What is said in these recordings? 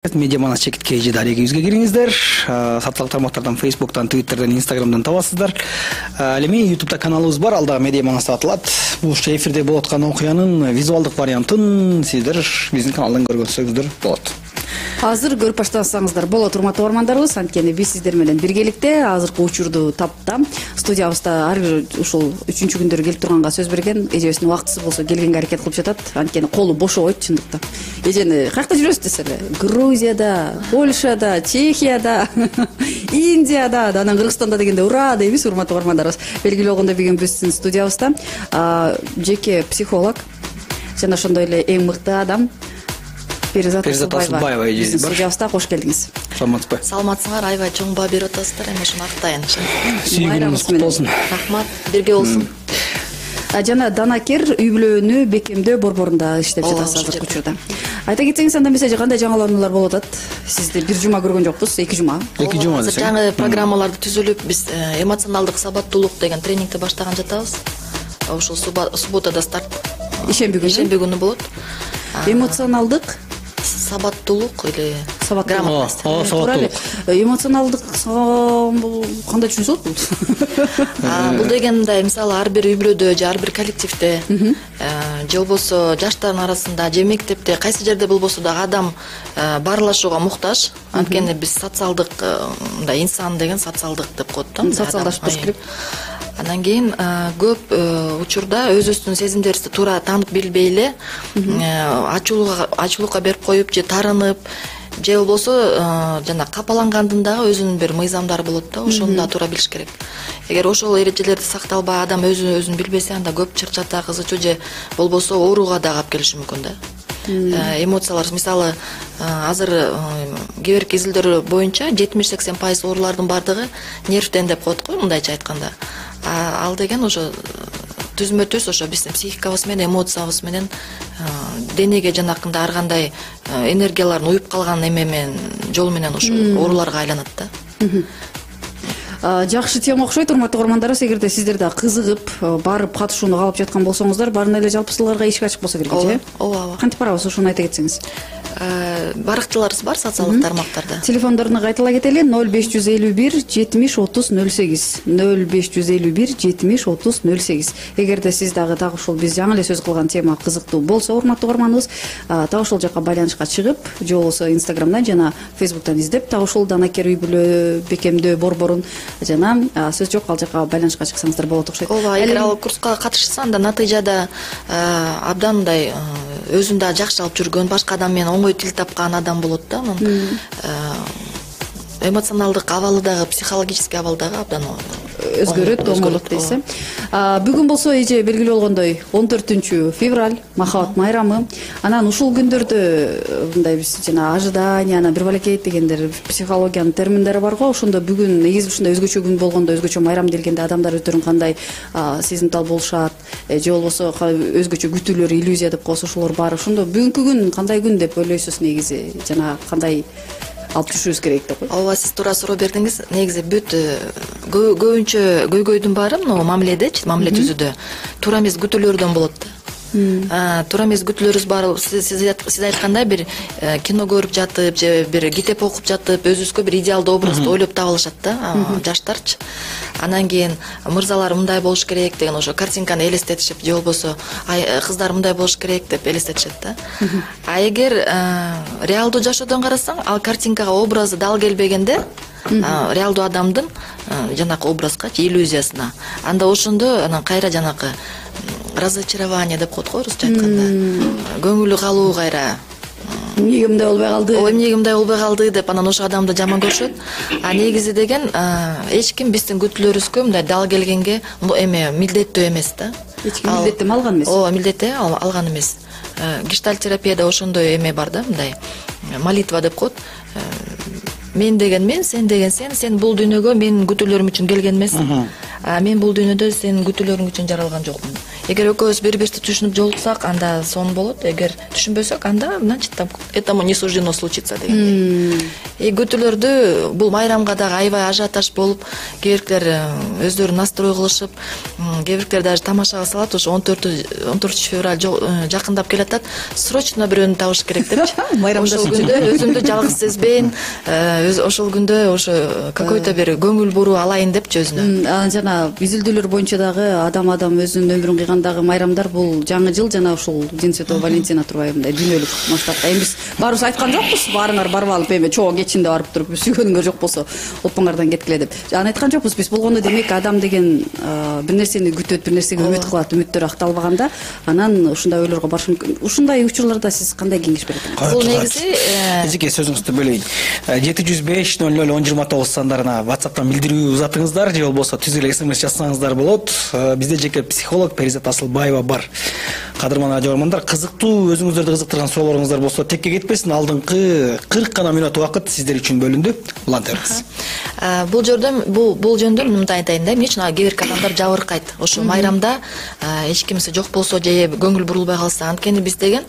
Медиа манас чекитке эже дарегибизге кириңиздер. Социалдык тармактардан, Facebook'тан, Twitter'дан, Instagram'дан табасыздар. Ал эми YouTube'да каналыбыз бар, ал дагы Медиа манас деп аталат. Бул эфирде болуп аткан окуянын визуалдык вариантын сиздер биздин каналдан көргөнсөңүздөр болот. Азыр көрүп баштасаңыздар болот, урматтуу угармандарыбыз. Анткени биз сиздер менен биргеликте азыркы учурду таптам. Студиябызда ар бир ушул 3-күндөрү келип турганга сөз берген. Эжебиздин убактысы болсо келгенге аракет кылып жатат. Анткени колу бошобойт чындыкта. Эжени каякта жүрөсүз десең, Грузияда, Польшада, Чехияда, Индияда, анан Кыргызстанда дегенде ура дейбиз, урматтуу угармандарыбыз. Белгилүү болгондой бүгүн биздин студиябызда жеке психолог жана ошондой эле эң мыкты адам Перизат Асылбаева биздин студиябызда. Кош келдиңиз. Саламатсызбы? Саламатсыңар, аябай чоң баа берип атасыздар, эми ошону актайын. Сүйгүнүңүз куттуу болсун. Рахмат, бирге болсун. Жана Данакер үй бүлөнү бекемдөө борборунда иштеп жатасыз азыркы учурда. Айта кетсеңиз, анда эмесе кандай жаңылануулар болуп атат? Сизди бир жума көргөн жокпуз, 2 жума. 2 жума десең. Жаңы программаларды түзүлүп, биз эмоционалдык сабаттуулук деген тренингди баштаган жатабыз. Ошол субботада старт. Ишемби күнү болот. Эмоционалдык сабаттуулук или грамотность. Сабаттуулук. Эмоционалдык кандай түшүнсөт бул? Бул дегенде мисалы ар бир үй бүлөдө же ар бир коллективде же болбосо жаштардын арасында же мектепте кайсы жерде болбосо дагы адам баарлашууга муктаж. Анткени биз социалдык мындай инсан деген социалдык деп коет да. Социалдашып туруш керек. Андан кийин көп учурда өзүбүздүн сезимдерибизди туура таанып билбей эле ачуулукка берип коюп же таарынып же болбосо жана капалангандын дагы өзүнүн бир мыйзамдары болот да, ошону да туура билиш керек. Эгер ошол эрежелерди сакталбай адам өзүн билбесе, анда көп чырчата, кызычуу же болбосо ооруга дагы алып келиши мүмкүн да. Эмоциялар мисалы азыр кээ бирки изилдөөр боюнча 70-80% оорулардын баардыгы нервден деп коет го, мындайча айтканда. Ал деген ошо түзмө-түз ошо биздин психикабыз менен, эмоциябыз менен денеге жанакындай ар кандай энергиялардын уюп калган жол менен ошо ооруларга айланат да. Жакшы тема окшойт, урматтуу угармандарыбыз. Эгерде сиздер да кызыгып барып катышууну каалап жаткан болсоңуздар, баарына эле жалпысыларга эшик ачык болсо керек же? Ооба. Кантип барабыз, ошону айта кетсеңиз. Баракчаларыбыз бар социалдык тармактарда. Телефондоруну кайтала кетели: 0551 70 30 08, 0551 70 30 08. Эгерде сиз дагы ушул биз жаңы эле сөз кылган тема кызыктуу болсо, урматтуу угарманыбыз, так ушул жака байланышка чыгып, же болбосо Instagram'дан жана Facebook'тан издеп, так ушул Данакер үй бүлө бекемдөө борборун жана сөз жок, ал жака байланышка чыксаңыздар болот окшойт. Ооба, эгер ал курска катышса, анда натыйжада абдан мындай өзүн да жакшы алып жүргөн, башка адам менен оңой тил тапкан адам болот да. Эмоционалдык абалы дагы, психологический абал дагы абдан өзгөрөт, оңолот дейсиз. Бүгүн болсо эже белгилүү болгондой 14 февраль махабат майрамы. Анан ушул күндөрдө мындай биз жана ожидание, анан бир балекейт дегендер психологиянын терминдери бар го. Ошондо бүгүн негизи ушундай өзгөчө күн болгондо, өзгөчө майрам делгенде адамдар өздөрүн кандай сезимтал болушат, же болбосо өзгөчө күтүүлөр, иллюзия деп коебуз, ошолор бар. Ошондо бүгүнкү күн кандай күн деп ойлойсуз негизи, жана кандай алып жүрүшүбүз керек деп коет. Ооба, сиз туура суроо бердиңиз. Негизи бүт көбүнчө көйгөйдүн баары мына мамиледечи, мамиле түзүүдө туура эмес күтүүлөрдөн болот да. Туура эмес күтүүлөрүбүз бар. Сиз айткандай бир кино көрүп жатып же бир китеп окуп жатып өзүбүзгө бир идеалдуу образды ойлоп таап алышат да, жаштарчы. Анан кийин мырзалар мындай болуш керек деген ошо картинканы элестетишип, же болбосо кыздар мындай болуш керек деп элестетишет да. Эгер реалдуу жашоодон карасаң, ал картинкага образы дал келбегенде, реалдуу адамдын жанакы образга, иллюзиясына, анда ошондо анан кайра жанакы разочарование деп коет го орусча айтканда. Көңүлү калуу кайра. Эмнеге мындай болбой калды? Эмнеге мындай болбой калды деп анан ошо адамды жаман көрүшөт. Негизи деген эч ким биздин күтүүлөрүбүзгө мындай дал келгенге милдеттүү эмес да. Эч ким милдеттеме алган эмес. Ооба, милдеттеме алган эмес. Гештальт терапияда ошондой бар да, мындай молитва деп коет. Мен деген мен, сен деген сен бул дүйнөгө менин күтүүлөрүм үчүн келген эмессиң. Мен бул дүйнөдө сенин күтүүлөрүң үчүн жаралган жокмун. эгер экөөбүз бири бирибизди түшүнүп жолуксак, анда сонун болот. Эгер түшүнбөсөк, анда значит там этому не суждено случиться дегендей. Күтүүлөрдү бул майрамга дагы аябай ажиотаж болуп, кээ бирлер өздөрү настрой кылышып, кээ бирлер даже тамашага салат. Ошо 14 февраль жакындап келатат. Срочно бирөөнү табыш керек депчи. Ошол күндө өзүмдү жалгыз сезбейин, ошол күндө ошо какой-то бир көңүл буруу алайын депчи өзүнө. Жана изилдөөлөр боюнча дагы адам өзүнүн өмүрүн кыйгандагы майрамдар бул жаңы жыл жана ушул День Святого Валентина турбайбы, мындай дүйнөлүк масштабта. Эми биз баарыбыз айткан жокпуз, баарыңар барып алып эми чоо кечинде барып туруп сүйгөнүңөр жок болсо оппоңардан кеткиле деп. Аны айткан жокпуз биз. Болгондо демек адам деген бир нерсени күтөт, бир нерсеге үмүт кылат, үмүттөрү акталбаганда анан ушундай ойлорго барыш мүмкүн. Ушундай учурларда сиз кандай кеңеш бересиз? Бул негизи эжеке сөзүңүздү бөлөйүн. 705-00-1029 сандарына WhatsApp'тан билдирүү узатыңыздар же болбосо түз эле SMS жазсаңыздар болот. Бизде жеке психолог Перизат Асылбаева бар. Кадырман радиоармандар, кызыктуу, өзүңүздөрдү кызыктырган суроолоруңуздар болсо текке кетпесин. Алдыңкы 40 гана минут убакыт сиздер үчүн бөлүндү. Улантыңыз. Бул жөндө мындай айтайын да, эмне үчүн кээ бир адамдар жабыркайт. Ошо майрамда эч кимиси жок болсо же көңүл бурулбай калса, анткени биз деген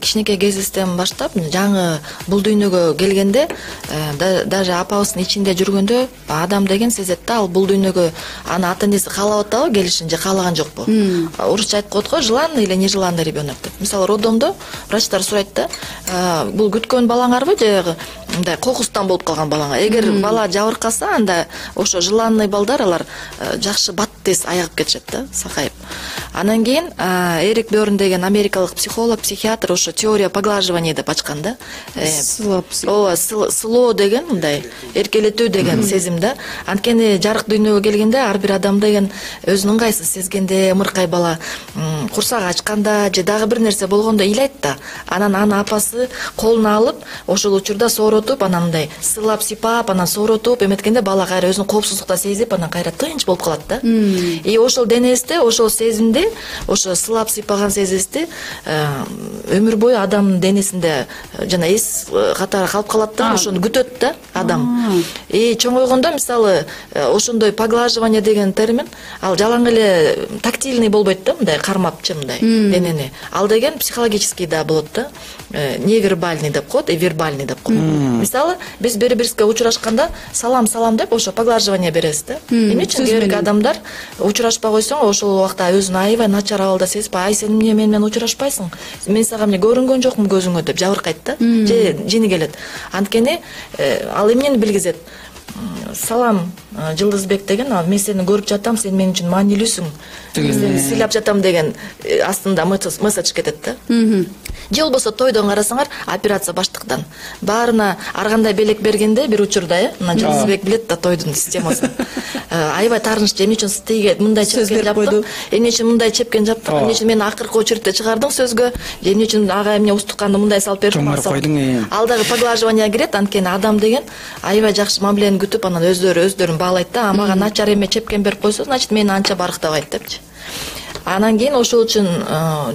кичинекей кезибизден баштап жаңы бул дүйнөгө келгенде, даже апабыздын ичинде жүргөндө адам деген сезет да, ал бул дүйнөгө аны ата энеси каалап атабы келишин же каалаган жокпу. Орусча айткан го, желанный или нежеланный ребенок деп. Мисалы, роддомдо врачтар сурайт да, бул күткөн балаңарбы же мындай кокустан болуп калган балаңар. Эгер бала жабыркаса, анда ошо желанный балдар алар жакшы бат тез айыгып кетишет да, сакайып. Анан кийин Эрик Бёрн деген америкалык психолог, психиатр ошо теория поглаживания деп ачкан да. Сылоо деген мындай эркелетүү деген сезим да. Анткени жарык дүйнөгө келгенде ар бир адам деген өзүнүн ыңгайсыз сезгенде, ымыркай бала курсагы ачканда же дагы бир нерсе болгондо ыйлайт да. Анан аны апасы колуна алып, ошол учурда сооротуп, анан мындай сыйлап, сыйпап, анан сооротуп эметкенде бала кайра өзүн коопсуздукта сезип, анан кайра тынч болуп калат да. И ошол денесте, ошол сезимди, ошо сыйлап сыйпаган сезимди өмүр бою адамдын денесинде жана эс катары калып калат да, ошону күтөт да адам. И чоңойгондо мисалы ошондой поглаживание деген термин, ал жалаң эле тактильный болбойт да, мындай кармапчы мындай денени. Ал деген психологический да болот да. Невербальный деп коет, и вербальный деп коет. Мисалы, биз бири-бирибизге учурашканда салам деп ошо поглаживание беребиз да. Эмне үчүн кээ бир адамдар учурашпай койсоң, ошол убакта өзүн аябай начар абалда сезип, ай сен эмне менен учурашпайсың? Мен сага эмне көрүнгөн жокмун көзүңө деп жабыркайт да. Же жини келет. Анткени ал эмнени билгизет? Салам Жылдызбек деген, мен сени көрүп жатам, сен мен үчүн маанилүүсүң. Сени сыйлап жатам деген астында месседж кетет да. Же болбосо тойдон карасаңар, операция баштыктан баарына ар кандай белек бергенде бир учурда, мына Жылдызбек билет да тойдун системасын. Аябай таарыныччы, эмне үчүн тиге мындай чепкен жаптым, эмне үчүн мындай чепкен жаптым, эмне үчүн мени акыркы очередте чыгардың сөзгө, эмне үчүн ага эмне устуканды мындай салып бердиң. Ал дагы поглаживание кирет, анткени адам деген аябай жакшы мамилени күтүп, анан өздөрүн баалайт да. Мага начар эме чепкен берип койсо, значит мени анча барктабайт депчи. Анан кийин ошол үчүн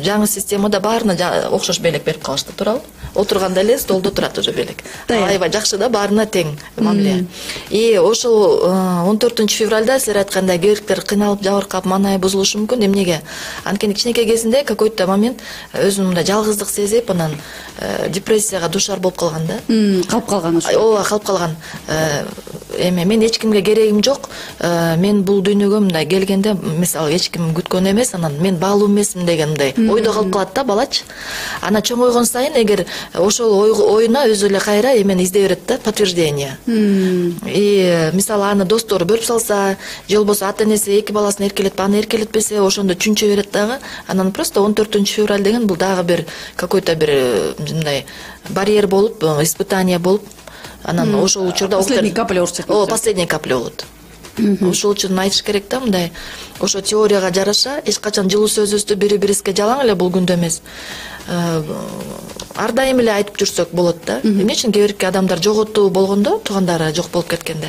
жаңы системада баарына окшош белек берип калышты, туурабы? Отурганда эле столдо турат уже белек. Аябай жакшы да, баарына тең мамиле. И ошол 14 февралда силер айткандай кээ кыйналып, жабыркап, маанайы бузулушу мүмкүн. Эмнеге? Анткени кичинекей кезинде какой-то момент өзүн мындай жалгыздык сезип, анан депрессияга душар болуп калган да. Калып калган ошо. Ооба, калып калган. Мен эч кимге керегим жок. Мен бул дүйнөгө мындай келгенде, мисалы, эч ким күткөн эмес, анан мен баалуу эмесмин деген мындай ойдо калып калат да балачы. Анан чоңойгон сайын эгер ошол оюна өзү эле кайра эмени издей берет да, подтверждение. И мисалы аны достору бөлүп салса, же болбосо ата энеси эки баласын эркелетип, аны эркелетпесе, ошондо чүнчө берет дагы. Анан просто 14 февраль деген бул дагы бир какой-то бир мындай барьер болуп, испытание болуп, анан ошол учурда последний капля урчат. Последний капля болот. Ошол үчүн айтыш керек да, мындай ошо теорияга жараша эч качан жылуу сөзүбүздү бири-бирибизге жалаң эле бул күндө эмес, ар дайым эле айтып жүрсөк болот да. Эмне үчүн кээ бирки адамдар жоготуу болгондо, туугандары жок болуп кеткенде,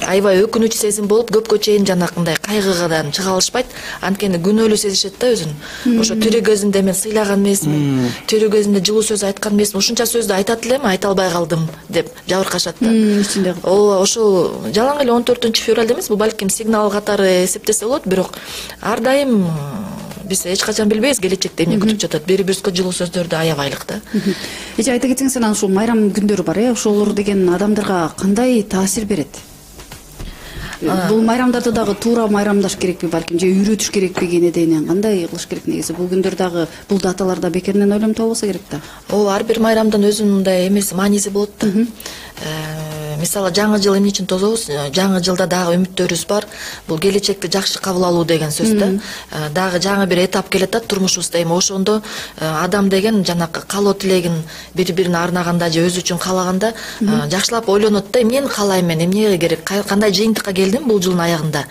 аябай өкүнүч сезим болуп көпкө чейин жанакындай кайгыдан чыга алышпайт, анткени күнөөлүү сезишет да өзүн. Ошо тирүү кезинде мен сыйлаган эмесмин, тирүү кезинде жылуу сөз айткан эмесмин, ушунча сөздү айтат элем, айта албай калдым деп жабыркашат да. Ичинде. Ооба, ошол жалаң эле 14-февралда эмес, бул балким сигнал катары эсептесе болот, бирок ар дайым биз эч качан билбейбиз келечекте эмне күтүп жатат. Бири-бирибизге жылуу сөздөрдү аябайлык да. Эже айта кетсеңиз, анан ушул майрам күндөрү бар, ошолор деген адамдарга кандай таасир берет? Бул майрамдарды дагы туура майрамдаш керекпи, балким же үйрөтүш керекпи, кенеден кандай кылыш керек негизи? Бул күндөр дагы, бул даталарда бекеринен ойлонуп болсо керек да. Ооба, ар бир майрамдын өзүнүн мындай эмеси, мааниси болот да. Мисалы, жаңы жыл эмне үчүн тособуз? Жаңы жылда дагы үмүттөрүбүз бар. Бул келечекти жакшы кабыл алуу деген сөз да. Дагы жаңы бир этап келет да турмушубузда. Эми ошондо адам деген жанакы каалоо тилегин бири-бирине арнаганда же өзү үчүн каалаганда жакшылап ойлонот да, мен каалайм, эмне керек, кандай жыйынтыкка келдим бул жылдын аягында,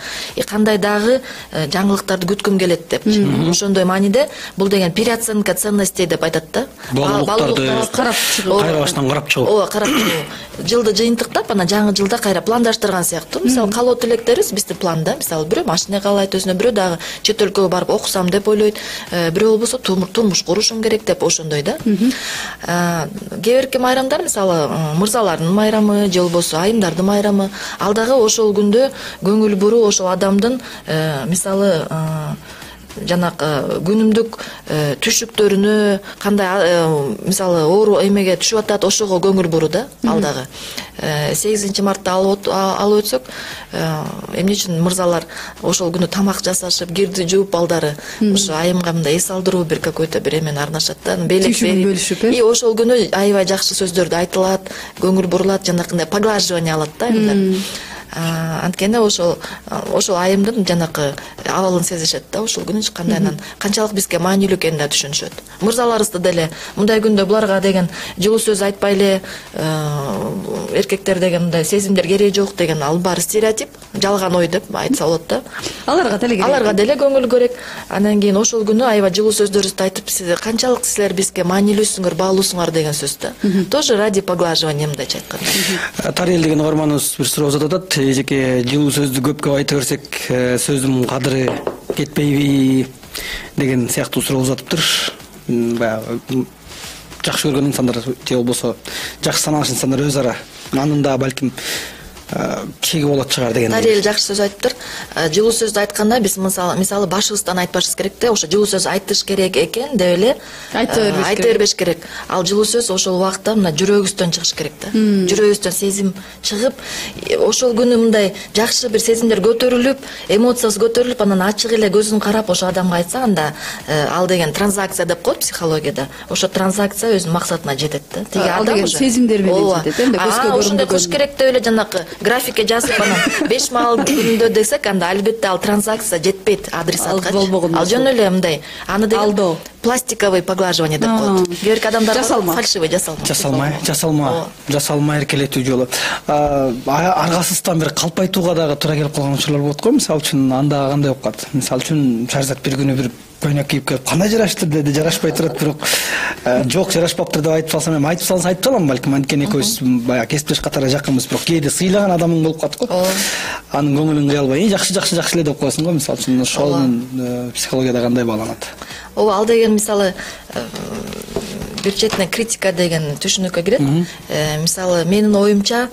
кандай дагы жаңылыктарды күткүм келет деп. Ошондой мааниде бул деген переоценка ценностей деп айтат да. Баалуулуктарды карап чыгуу, кайра баштан карап чыгуу. Ооба, карап чыгуу. Жылды жыйынтыктап, анан жаңы жылда кайра пландаштырган сыяктуу. Мисалы, каалоо тилектерибиз биздин планда. Мисалы, бирөө машина каалайт өзүнө, бирөө дагы чет өлкөгө барып окусам деп ойлойт, бирөө болбосо турмуш курушум керек деп ошондой да. Кээ бирки майрамдар, мисалы, мырзалардын майрамы же болбосо айымдардын майрамы, ал дагы ошол күндө көңүл буруу, ошол адамдын мисалы жанакы күнүмдүк түшүктөрүнө, кандай мисалы оору эмеге түшүп атат, ошого көңүл буруу да, ал дагы. 8 мартта алып өтсөк, эмне үчүн мырзалар ошол күнү тамак жасашып, кирди жууп, балдары ошо айымга мындай эс алдыруу бир какой-то бир эмени арнашат да, белек берип, и ошол күнү аябай жакшы сөздөрдү айтылат, көңүл бурулат, жанакындай поглаживание алат да айымдар. Анткени ошол айымдын жанакы абалын сезишет да, ошол күнү кандайынан канчалык бизге маанилүү экенин да түшүнүшөт. Мырзаларыбызды деле мындай күндө буларга деген жылуу сөз айтпай эле, эркектер деген мындай сезимдер кереги жок деген, ал баары стереотип, жалган ой деп айтса болот да. Аларга деле көңүл керек. Анан кийин ошол күнү аябай жылуу сөздөрүбүздү айтып, канчалык силер бизге маанилүүсүңөр, баалуусуңар деген сөз да. Тоже ради поглаживания, мындайча айтканда. Тарел деген угарманыбыз бир суроо uzatып атат. Эжеке, жылуу сөздү көпкө айта берсек, сөздүн кадыры кетпейби деген сыяктуу суроо узатыптыр. Баягы жакшы көргөн инсандар же болбосо жакшы санаган инсандар өз ара анын да балким чеги болот чыгар деген. Тарел жакшы сөз айтыптыр. Жылуу сөздү айтканда биз мисалы башыбыздан айтпашыбыз керек да, ошо жылуу сөз айтыш керек экен деп эле айта бербеш керек. Ал жылуу сөз ошол убакта мына жүрөгүбүздөн чыгыш керек да. Жүрөгүбүздөн сезим чыгып, ошол күнү мындай жакшы бир сезимдер көтөрүлүп, эмоциясы көтөрүлүп, анан ачык эле көзүн карап ошо адамга айтса, анда ал деген транзакция деп коет психологияда. Ошо транзакция өзүнүн максатына жетет да. Теги адам ошо сезимдер менен жетет, эмне көзгө көрүндүгөн. Ошондой кылыш керек деп эле жанакы графикке жазып анан 5 маал күндө десек, анда албетте ал транзакция жетпейт адресатка. Ал жөн эле мындай, аны деген пластиковый поглаживание деп коет. Кээ адамдар фальшивый жасалма эркелетүү жолу. Аргасыздан бир калпайтууга дагы туура келип калган учурлар болот го. Мисалы үчүн анда кандай болуп калат? Мисалы үчүн Шаризат бир күнү бир көйнөк кийип келип, кандай жараштыр деди, жарашпай турат, бирок жок, жарашпаптыр деп айтып салсам, эми айтып салса айтып калам балким, анткени экөөбүз баягы кесиптеш катары жакынбыз, бирок кээде сыйлаган адамың болуп калат го. Анын көңүлүн кыя албай, жакшы эле деп коесуң го. Мисалы үчүн ошонун психологияда кандай бааланат? Ооба, ал деген мисалы бир четинен критика деген түшүнүккө кирет. Мисалы, менин оюмча,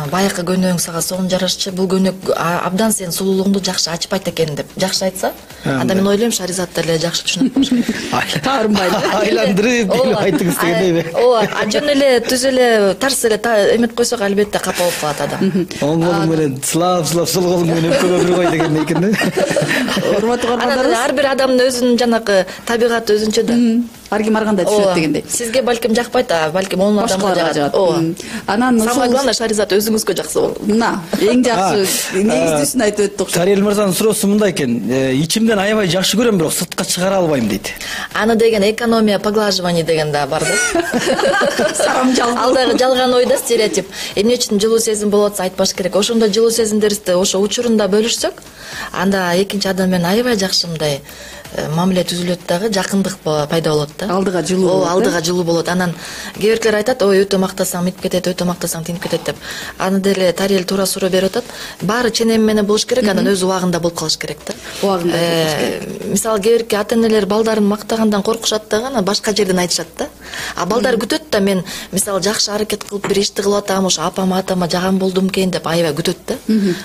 баякы көнөгүң сага сонун жарашчы, бул көнөк абдан сенин сулуулугуңду жакшы ачпайт экен деп жакшы айтса, анда мен ойлойм Шаризат деле жакшы түшүнөт болуш керек. Таарынбай айландырып делип айтыңыз дегендейби? Ооба, жөн эле түз эле тарс эле эметип койсок, албетте капа болуп калат адам. Оң колуң менен сылап сол колуң менен өпкөгө бир кой дегендей экен да. Урматтуу угармандарыбыз, ар бир адамдын өзүнүн жанакы табигаты өзүнчө да. Ар ким ар кандай түшүнөт дегендей. Сизге балким жакпайт, балким он адамга жагат. Анан самое главное, Шаризат өзүңүзгө жакса болот. Мына, эң жакшы негиздүүсүн айтып өттүк. Тарел мырзанын суроосу мындай экен: ичимден аябай жакшы көрөм, бирок сыртка чыгара албайм дейт. Аны деген экономия поглаживание деген да бар да. Сарамжал. Ал дагы жалган ой да, стереотип. Эмне үчүн жылуу сезим болуп атса айтпаш керек. Ошондо жылуу сезимдерибизди ошо учурунда бөлүшсөк, анда экинчи адам менен аябай жакшы мындай мамиле түзүлөт дагы, жакындык пайда болот да. Алдыга жылуу болот. Алдыга жылуу болот. Анан кээ биркилер айтат, ой өтө мактасаң минип кетет, өтө мактасаң тинип кетет деп. Аны деле Тариэл туура суроо берип атат. Баары ченем менен болуш керек, анан өз убагында болуп калыш керек да. Убагында. Мисалы кээ бирки ата-энелер балдарын мактагандан коркушат дагы, анан башка жерден айтышат да. А балдар күтөт да, мен мисалы жакшы аракет кылып бир ишти кылып атам, ошо апама атама жаган болдум экен деп аябай күтөт да.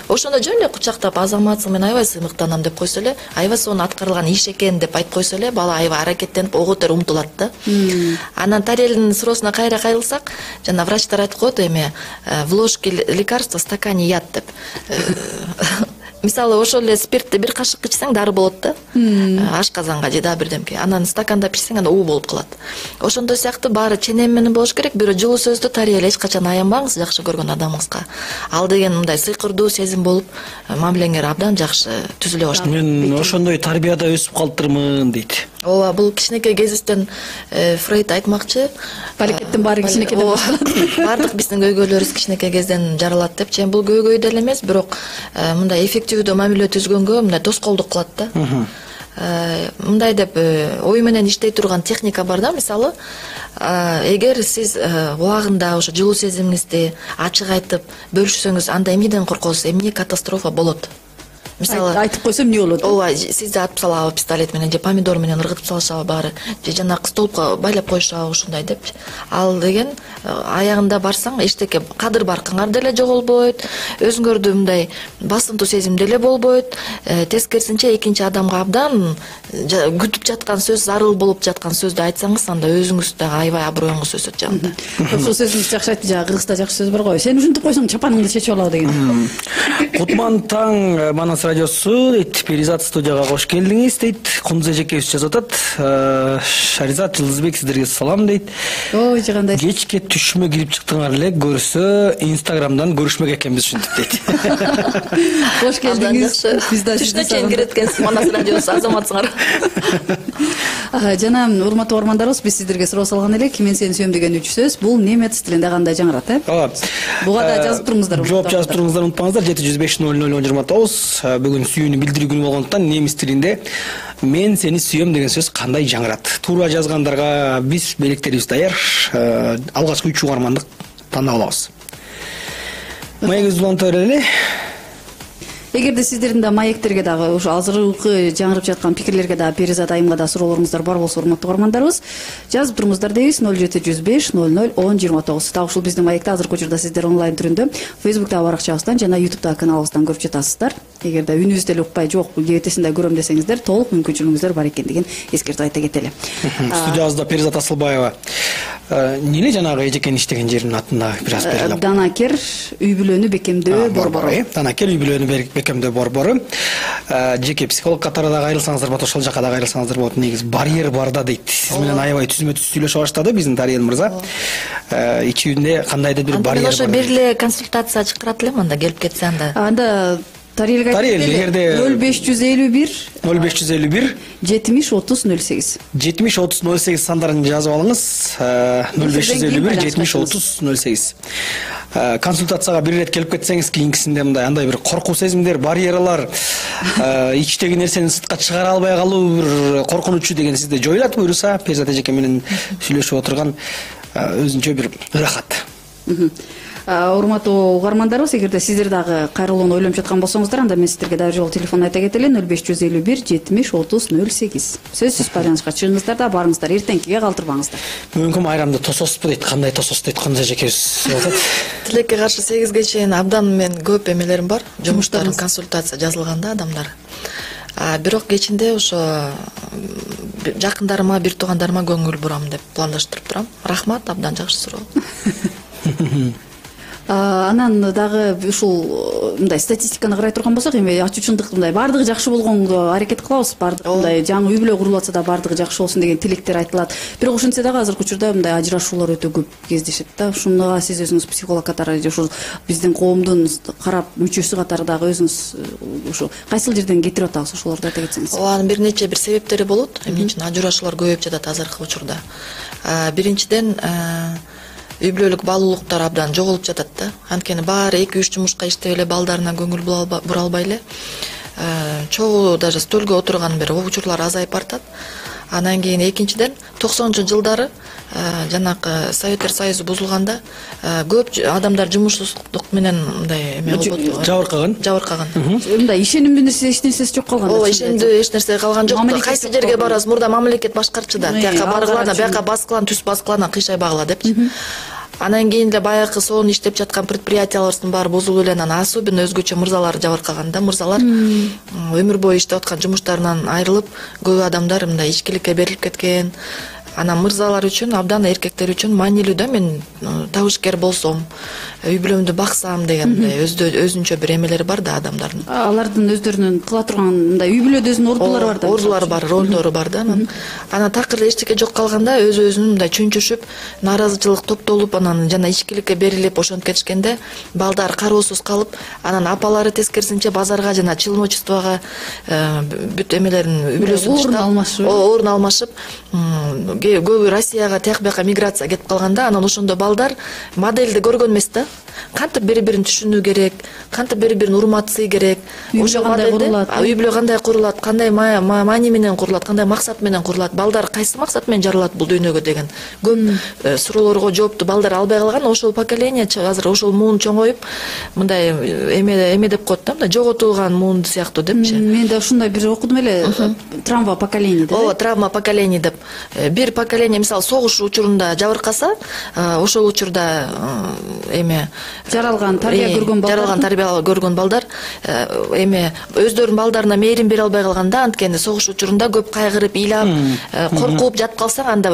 Ошондо жөн эле кучактап, азаматсың, мен аябай сыймыктанам деп койсо эле, аябай сонун аткарылган иш экен деп айтып койсо эле, бала аябай аракеттенип ого тер умтулат да. Анан Тариэлдин суроосуна кайра кайрылсак, жана врачтар айтып коет эми в ложке лекарства, в стакане яд деп. Мисалы ошол эле спиртти бир кашык ичсең дары болот да. Ашказанга же да бирдемке. Анан стаканда пичсең анда уу болуп калат. Ошондой сыяктуу баары ченем менен болуш керек. Бирөө жылуу сөздү Тариэл эч качан аянбаңыз жакшы көргөн адамыңызга. Ал деген мындай сыйкырдуу сезим болуп, мамилеңер абдан жакшы түзүлө баштайт. Мен ошондой тарбияда өсүп калыптырмын дейт. Ооба, бул кичинекей кезибизден Фрейд айтмакчы. Балекеттин баары кичинекейден башталат. Бардык биздин көйгөйлөрүбүз кичинекей кезден жаралат деп. Бул көйгөй деле эмес, бирок мындай эффективдүү мамиле түзгөнгө мындай тоскоолдук кылат да. Мындай деп ой менен иштей турган техника бар да, мисалы эгер сиз убагында ошо жылуу сезимиңизди ачык айтып бөлүшсөңүз, анда эмнеден коркосуз, эмне катастрофа болот? Мисалы айтып койсом эмне болот? Ооба, сизди атып салабы пистолет менен же помидор менен ыргытып салышабы баары, же жанагы столбко байлап коюшабы ушундай деп. Ал деген аягында барсаң эчтеке кадыр баркыңар деле жоголбойт, өзүңөрдү мындай басымдуу сезим деле болбойт. Тескерисинче экинчи адамга абдан күтүп жаткан сөз, зарыл болуп жаткан сөздү айтсаңыз, анда өзүңүз дагы аябай аброюңуз өсөт жанында. Ошол сөзүңүз жакшы айтты, жана кыргызда жакшы сөз бар го. Сен ушинтип койсоң чапаныңды чечип алабы деген. Кутман таң Манас радиосу дейт, Перизат студияга кош келдиңиз дейт. Кундуз эжекебиз жазып атат. Шаризат, Жылдызбек сиздерге салам дейт. Ой, жагандай. Кечке түшүмө кирип чыктыңар эле, көрсө Инстаграмдан көрүшмөк экенбиз ушинтип дейт. Кош келдиңиз. Биз да түштө чейин кирет экенсиз Манас радиосу, азаматсыңар. Жана урматтуу угармандарыбыз, биз сиздерге суроо салган элек, мен сени сүйөм деген 3 сөз бул немец тилинде кандай жаңырат, Ооба. Буга да жазып туруңуздар. Жооп жазып туруңуздар, унутпаңыздар. 705-00-29. Бүгүн сүйүүнү билдирүү күнү болгондуктан немис тилинде мен сени сүйөм деген сөз кандай жаңырат? Туура жазгандарга биз белектерибиз даяр. Алгачкы 3 угармандык тандап алабыз. Маегибизди уланта берели. Эгерде сиздердин да маектерге дагы ушу азыркы жаңырып жаткан пикирлерге дагы Перизат айымга да суроолоруңуздар бар болсо, урматтуу угармандарыбыз, жазып туруңуздар дейбиз. 0705-00-10-29. Так ушул биздин маекте азыркы учурда сиздер онлайн түрүндө Facebook'тагы баракчабыздан жана YouTube'дагы каналыбыздан көрүп жатасыздар. Эгерде үнүбүздү деле укпай, жок, кебетесин да көрөм десеңиздер, толук мүмкүнчүлүгүңүздөр бар экендигин эскертип айта кетели. Студиябызда Перизат Асылбаева. Эмне жанагы эжекенин иштеген жеринин атында бир аз берилип. Данакер үй бүлөнү бекемдөө борбору. Данакер үй бүлөнү бекемдөө борбору. Жеке психолог катары да кайрылсаңыздар болот, ошол жака да кайрылсаңыздар болот. Негизи барьер бар да дейт. Сиз менен аябай түзмө-түз сүйлөшө баштады биздин Тариэл мырза. Ичүүндө кандайдыр бир барьер бар. Ошо бир эле консультация чакырат элем, анда келип кетсе анда. Анда Тариэл эгерде 0551 70 30 08 70 30 08 сандарын жазып алыңыз. 0551 70 30 08. Консультацияга бир ирет келип кетсеңиз, кийинкисинде мындай андай бир коркуу сезимдер, барьерлар, ичтеги нерсени сыртка чыгара албай калуу бир коркунучу деген сизде жоюлат буюрса, Перизат эжеке менен сүйлөшүп отурган өзүнчө бир ырахат. Урматтуу угармандарыбыз, эгерде сиздер дагы кайрылууну ойлонуп жаткан болсоңуздар, анда мен сиздерге дагы жолу телефон айта кетели. 0551 70 30 08. Сөзсүз байланышка чыгыңыздар да барыңыздар, эртеңкиге калтырбаңыздар. Мүмкүн айрамда тососузбу дейт, кандай тосос дейт, Кундуз эжекебиз айтат. Тилекке каршы 8ге чейин абдан мен көп эмелерим бар, жумуштарым, консультация жазылганда адамдар. Бирок кечинде ошо жакындарыма, бир туугандарыма көңүл бурам деп пландаштырып турам. Рахмат, абдан жакшы суроо. Анан дагы ушул мындай статистиканы карай турган болсок, эми ачуучундук мындай бардыгы жакшы болгонго аракет кылабыз, бардыгы мындай жаңы үй бүлө курулуп атса да бардыгы жакшы болсун деген тилектер айтылат. Бирок ошентсе дагы азыркы учурда мындай ажырашуулар өтө көп кездешет да. Ушуга сиз өзүңүз психолог катары, ушул биздин коомдун карап мүчөсү катары дагы өзүңүз ушу кайсыл жерден кетирип атабыз, ошолорду айта кетсеңиз. Анын бир нече бир себептери болот. Эмне үчүн ажырашуулар көбөйүп жатат азыркы учурда? Биринчиден үй бүлөлүк баалуулуктар абдан жоголуп жатат да. Анткени баары 2-3 жумушка иштеп эле балдарына көңүл бура албай эле чогуу даже стөлгө отурган бир учурлар азайып баратат. Анан кийин экинчиден 90-жылдары жанакы Советтер Союзу бузулганда көп адамдар жумушсуздук менен мындай эме болуп жабыркаган. Мындай ишенимдүү эч нерсеси жок калган. Ооба, ишенимдүү эч нерсе калган жок. Кайсы жерге барасыз, мурда мамлекет башкарчы да. Тияка баргыла, бияка баскылан, түз баскылана, кыйшай багыла депчи. Анан кийин эле баягы сонун иштеп жаткан предприятияларыбыздын баары бузулуп эле, анан особенно өзгөчө мырзалар жабыркаган да. Мырзалар өмүр бою иштеп аткан жумуштарынан айрылып, көп адамдар мындай ичкиликке берилип кеткен. Анан мырзалар үчүн, абдан эркектер үчүн маанилүү да, мен табышкер болсом, үй бүлөмдү баксам деген өзүнчө бир эмелери бар да адамдардын. Алардын өздөрүнүн кыла турган мындай үй бүлөдө өзүнүн ордулары бар да. Ордулары бар, ролдору бар да. Анан такыр эчтеке жок калганда өзүнүн мындай чүнчүшүп, нааразычылык топтолуп, анан жана ичкиликке берилип ошентип кетишкенде балдар кароосуз калып, анан апалары тескерисинче базарга жана чиновничествого бүт эмелерин үй бүлөсүн орун алмашып, көбү Россияга, тияк бияка миграция кетип калганда, анан ошондо балдар модельди көргөн эмес да. Кантип бири-бирин түшүнүү керек, кантип бири-бирин урматсый керек. Ошо модельди үй бүлө кандай курулат, кандай маани менен курулат, кандай максат менен курулат, балдар кайсы максат менен жаралат бул дүйнөгө деген көп суроолорго жоопту балдар албай калган. Ошол поколение азыр ошол муун чоңоюп, мындай эме деп коет да, мындай жоготулган муун сыяктуу депчи. Мен да ушундай бир окудум эле, травма поколение деп. Ооба, травма поколение деп. Бир поколение мисалы согуш учурунда жабыркаса, ошол учурда эме жаралган тарбия көргөн балдар эме өздөрүнүн балдарына мээрим бере албай калганда, анткени согуш учурунда көп кайгырып, ыйлап, коркуп жатып калсаң, анда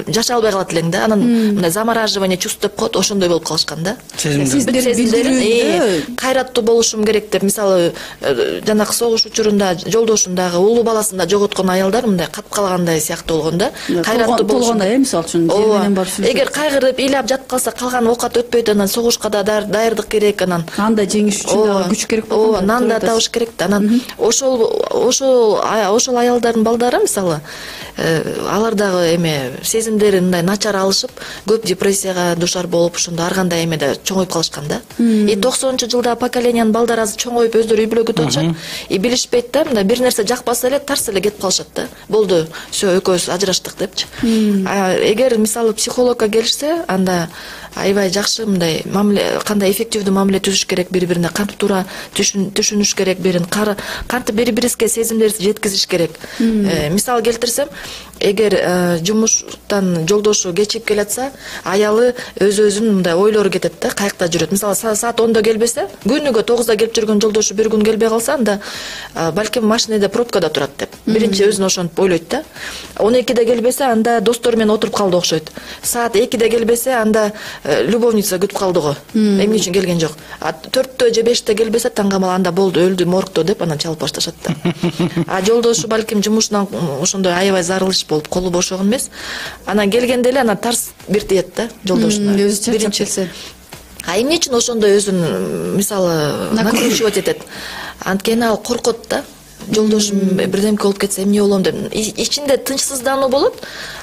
жашай албай калат элең да. Анан мындай замораживание чувств деп коет, ошондой болуп калышкан да. Сезимдер кайраттуу болушум керек деп, мисалы жанакы согуш учурунда жолдошун дагы, улуу баласын да жоготкон аялдар мындай катып калгандай сыяктуу болгон да. Кайраттуу болгондой, мисалы үчүн жер менен барып сүйлөшөт. Эгер кайгырып, ыйлап жатып калса, калган оокат өтпөйт, анан согушка да даярдык керек, анан анда жеңиш үчүн да күч керек болот. Ооба, нан да табыш керек да. Анан ошол аялдардын балдары мисалы алар дагы эме сезимдери мындай начар алышып, көп депрессияга душар болуп, ошондо ар кандай эмеде чоңоюп калышкан да. 90-жылда поколениянын балдары азыр чоңоюп өздөрү үй бүлө күтүп атышат. Билишпейт да, мындай бир нерсе жакпаса эле тарс эле кетип калышат да. Болду, всё, экөөбүз ажыраштык депчи. Эгер мисалы психологко келишсе, анда аябай жакшы мындай мамиле, кандай эффективдүү мамиле түзүш керек, бири-бирине кантип туура түшүнүш керек, кантип бири-бирибизге сезимдерибизди жеткизиш керек. Мисал келтирсем, эгер жумуштан жолдошу кечигип келатса, аялы өзүнүн мындай ойлору кетет да, каякта жүрөт. Мисалы саат 10до келбесе, күнүгө 9да келип жүргөн жолдошу бир күн келбей калса, анда балким машинеде пробкада турат деп. Биринчи өзүн ошентип ойлойт да. 12де келбесе, анда достору менен отуруп калды окшойт. Саат 2де келбесе, анда любовница күтүп калды го. Эмне үчүн келген жок. 4тө же 5те келбесе, таңгамал анда болду, өлдү моргдо деп анан чалып башташат да. Жолдошу балким жумушунан ошондой аябай зарылыш болуп, колу бошогон эмес. Анан келгенде эле анан тарс бир тиет да жолдошуна. Биринчи келсе. Эмне үчүн ошондой өзүн мисалы накручивать этет? Анткени ал коркот да. Жолдошум бирдемке болуп кетсе эмне болом деп. Ичинде тынчсыздануу болот,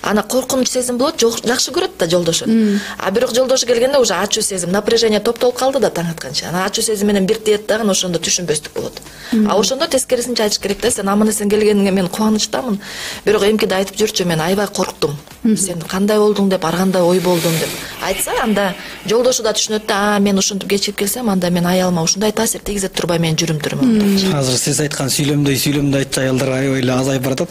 ана коркунуч сезим болот, жакшы көрөт да жолдошун. Бирок жолдошу келгенде уже ачуу сезим, напряжение топтолуп калды да таң атканча. Ана ачуу сезим менен бир тиет дагы, ошондо түшүнбөстүк болот. Ошондо тескерисинче айтыш керек да, сен аман эсен келгениңе мен кубанычтамын, бирок эмкиде айтып жүрчү, мен аябай корктум. Сен кандай болдуң деп, ар кандай ой болдуң деп айтса, анда жолдошу да түшүнөт да, мен ушинтип кечигип келсем, анда мен аялыма ушундай таасир тийгизе турбай мен жүрүм. Азыр сиз айткан сүйлөмдөй айтчу аялдар аябай эле азайып баратат.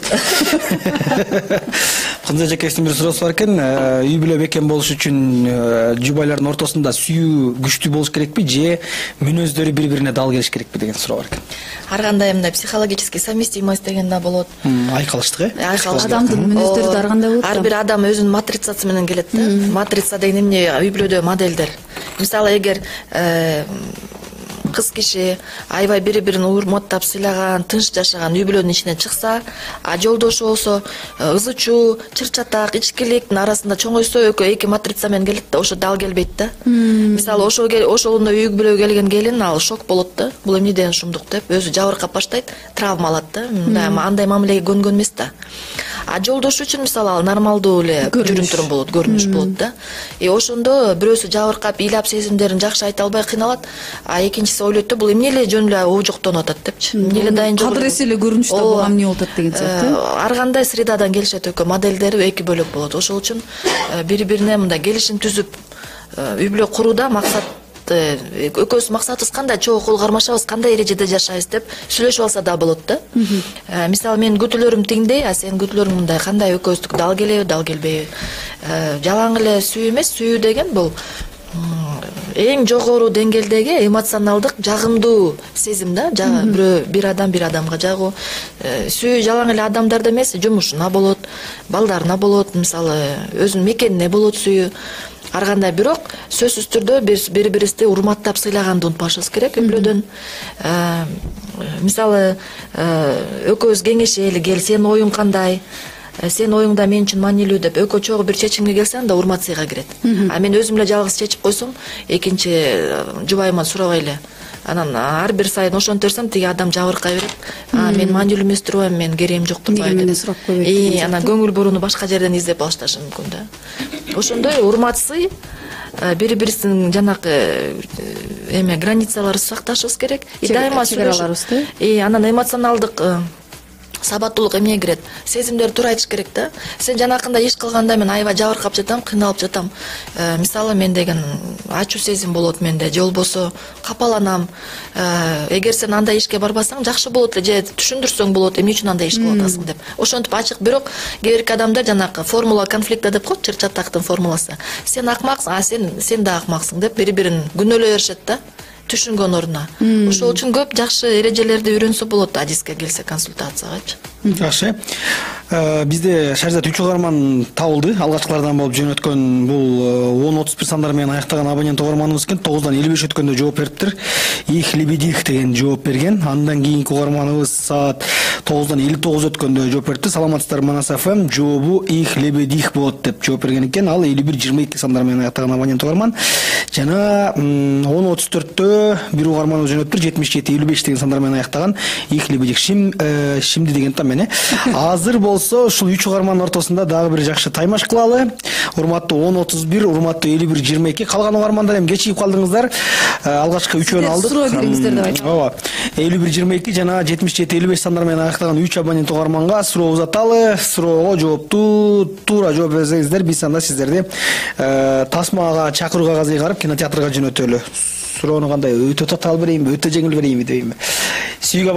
Кандай жакебиздин бир суроосу бар экен, үй бүлө бекем болуш үчүн жубайлардын ортосунда сүйүү күчтүү болуш керекпи же мүнөздөрү бири-бирине дал келиш керекпи деген суроо бар экен. Ар кандай мындай психологический совместимость деген да болот. Айкалыштык, Адамдын мүнөздөрү да ар кандай болот. Ар бир адам өзүнүн матрицасы менен келет да. Матрица деген эмне? Үй бүлөдө моделдер. Мисалы эгер кыз киши аябай бири-бирин урматтап сыйлаган, тынч жашаган үй бүлөнүн ичинен чыкса, жолдошу болсо ызы чуу, чыр-чатак, ичкиликтин арасында чоңойсо, эки матрица менен келет да, ошо дал келбейт да. Мисалы ошондо үй бүлөгө келген келин ал шок болот да. Бул эмнеден ушундук деп өзү жабыркап баштайт, травма алат да. Андай мамилеге көнгөн эмес да. А жолдошу үчүн мисалы ал нормалдуу эле жүрүм-турум болот, көрүнүш болот да. Ошондо бирөөсү жабыркап, ыйлап сезимдерин жакшы айта албай кыйналат, а экинчиси ойлойт да, бул эмне эле жөн эле оожоктонуп атат депчи. Эмне эле дайын жок. Кадыр эсе эле көрүнүштө буга эмне болуп атат деген сыяктуу. Ар кандай средадан келишет, экөө моделдери эки бөлөк болот. Ошол үчүн бири-бирине мындай келишим түзүп үй бүлө курууда максат, экөөбүз максатыбыз кандай, чогуу кол кармашабыз, кандай эрежеде жашайбыз деп сүйлөшүп алса да болот да. Мисалы менин күтүүлөрүм тиңдей, а сенин күтүүлөрүң мындай, кандай экөөбүздүкү дал келеби, дал келбейби. Жалаң эле сүйүү эмес, сүйүү деген бул эң жогору деңгээлдеги эмоционалдык жагымдуу сезим да. Бир адамга жагуу. Сүйүү жалаң эле адамдарда эмес, жумушуна болот, балдарына болот, мисалы өзүнүн мекенине болот сүйүү. Ар кандай, бирок сөзсүз түрдө бири-бирибизди урматтап сыйлаганды унутпашыбыз керек үй бүлөдөн. Мисалы экөөбүз кеңешели, кел, сенин оюң кандай? Сенин оюңда мен үчүн маанилүү деп экөө чогуу бир чечимге келсең да урмат сыйга кирет. А мен өзүм эле жалгыз чечип койсом, экинчи жубайыма сурабай эле, анан ар бир сайын ошентип берсем, тиги адам жабыркай берет. Мен маанилүү эмес турбайбы, мен керегим жок турбайбы деп. Сурап койбойт. Анан көңүл бурууну башка жерден издеп алышташы мүмкүн да. Ошондой урмат сый, бири-бирибиздин жанакы границаларды сакташыбыз керек. Дайыма чегараларыбызды. Анан эмоционалдык сабаттуулук эмне кирет? Сезимдерди туура айтыш керек да. Сен жанакында иш кылганда мен аябай жабыркап жатам, кыйналып жатам. Мисалы мен деген ачуу сезим болот менде, же болбосо капаланам. Эгер сен андай ишке барбасаң жакшы болот эле, же түшүндүрсөң болот, эмне үчүн андай иш кылып атасың деп. Ошентип ачык, бирок кээ бирки адамдар жанакы формула конфликта деп коет, чыр-чатактын формуласы. Сен акмаксың, а сен да акмаксың деп бири-бирин күнөөлөй беришет да. Түшүнгөн ордуна. Ошол үчүн көп жакшы эрежелерди үйрөнсө болот, адиске келсе, консультациягачы. Жакшы. Бизде Шаризат 3 угарман табылды. Алгачкылардан болуп жөнөткөн бул 10-31 сандар менен аяктаган абонент угарманыбыз экен. 9-дан 55 өткөндө жооп бериптир. Их лебедих деген жооп берген. Андан кийинки угарманыбыз саат 9-дан 59 өткөндө жооп бериптир. Саламатсыздар, Манас ФМ жообу их лебедих болот деп жооп берген экен. Ал 51-22 сандар менен аяктаган абонент угарман. Жана 10-34-тө бир угарманыбыз жөнөттүр. 77-55 деген сандар менен аяктаган их лебедих шимди деген там. Азыр болсо ушул 3 угармандын ортосунда дагы бир жакшы таймаш кылалы. Урматтуу 10-31, урматтуу 51-22. Калган угармандар эми кечигип калдыңыздар. Алгачкы 3-өн алдык. Суроо бериңиздер деп айтам. Ооба. 51-22 жана 77-55 сандар менен аяктаган 3 абонент угарманга суроо узаталы. Суроого жоопту туура жооп берсеңиздер, биз анда сиздерди тасмага чакыруу кагазы кайрып кинотеатрга жөнөтөлү. Суроону кандай, өтө татаал берейинби, өтө жеңил берейинби дейинби? Сүйүүгө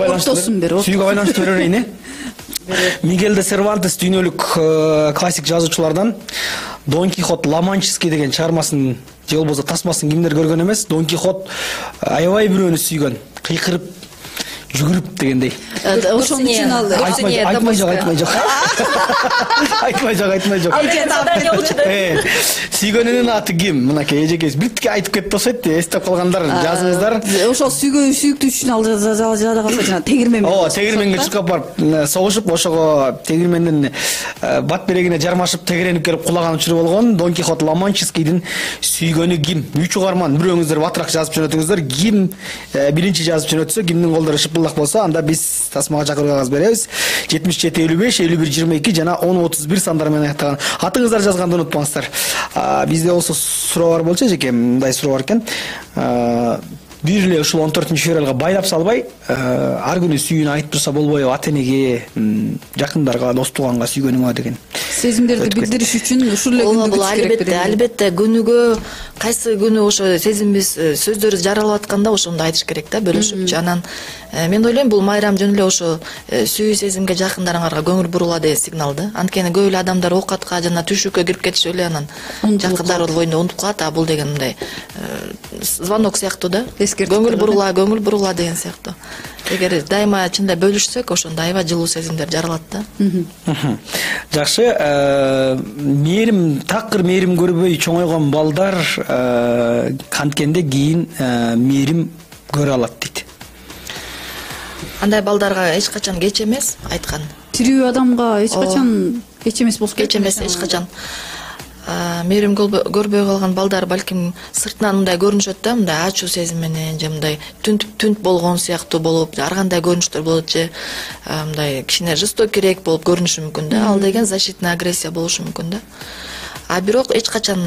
байланыштуу берейин, Мигель де Сервантес дүйнөлүк классик жазуучулардан Дон Кихот Ла-Манческий деген чыгармасын же болбосо тасмасын кимдер көргөн эмес. Дон Кихот аябай бирөөнү сүйгөн, кыйкырып жүгүрүп дегендей. Ошон үчүн ал айтмай жок. Сүйгөнүнүн аты ким? Мынакей эжекебиз биртке айтып кетип болсойт, эстеп калгандар жазыңыздар. Ошол сүйүктүү үчүн ал жада калса жана тегирмен. Ооба, тегирменге чуркап барып согушуп, ошого тегирмендин бат берегине жармашып, тегеренип келип кулаган учуру болгон. Дон Кихот Ла-Манческийдин сүйгөнү ким? 3 угарман бирөөңүздөр батыраак жазып жөнөтүңүздөр. Ким биринчи жазып жөнөтсө, кимдин колдору шыпылдак болсо, анда биз тасмага чакыруу кагаз беребиз. 77-55, 51-22 жана 10-31 сандар менен аяктаган. Атыңыздар жазганды унутпаңыздар. Бизде болсо суроо бар болчу эжеке, мындай суроо бар экен. Бир эле ушул 14-февралга байлап салбай, ар күнү сүйүүнү айтып турса болбойбу ата-энеге, жакындарга, дос тууганга сүйгөнүңө деген. Сезимдерди билдириш үчүн ушул эле күндү күтүш керек. Албетте, күнүгө кайсы күнү ошо сезимибиз сөздөрү жаралып атканда ошондо айтыш керек да, бөлүшүп. Анан мен ойлойм, бул майрам жөн эле ошо сүйүү сезимге жакындарыңарга көңүл бурула деген сигнал да. Анткени көп эле адамдар оокатка жана түшүккө кирип кетишип эле анан жакындары боюнда унутуп калат, а бул деген мындай звонок сыяктуу да. Көңүл бурула деген сыяктуу. Эгер дайыма чындай бөлүшсөк, ошондо аябай жылуу сезимдер жаралат да. Жакшы, мээрим, такыр мээрим көрбөй чоңойгон балдар канткенде кийин мээрим көрө алат дейт. Андай балдарга эч качан кеч эмес айткан. Тирүү адамга эч качан кеч эмес болсо керек. Кеч эмес эч качан. мээрим көрбөй калган балдар балким сыртынан мындай көрүнүшөт да, мындай ачуу сезим менен же мындай түнт болгон сыяктуу болуп, ар кандай көрүнүштөр болот же мындай кичине жестокирээк болуп көрүнүшү мүмкүн да. Ал деген защитный агрессия болушу мүмкүн да. А бирок эч качан